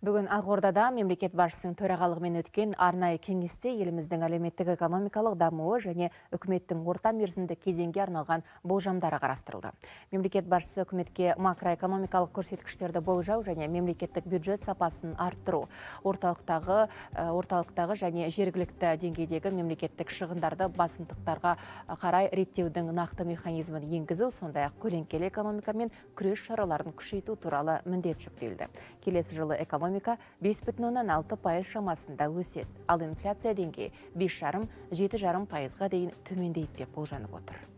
Бүгін Ақордада мемлекет басшысының төрағалығымен өткен арнайы кеңесте еліміздің әлеуметтік экономикалық дамуы және үкіметтің орта мерзімді кезеңге арналған болжамдары қарастырылды. Мемлекет басшысы үкіметке макроэкономикалық көрсеткіштерді болжау және мемлекеттік бюджет сапасын арттыру, орталықтағы және жергілікті деңгейдегі мемлекеттік шығындарды басымдықтарға қарай реттеудің нақты механизмін енгізу, сондай-ақ көлеңкелі экономикамен күрес шараларын күшейту туралы міндет жүктелді. Келесі жылы экономика 5,6% шамасында өседі, ал инфляция деңгейі 5,5-7,5%-ға дейін төмендейді деп болжанып отыр.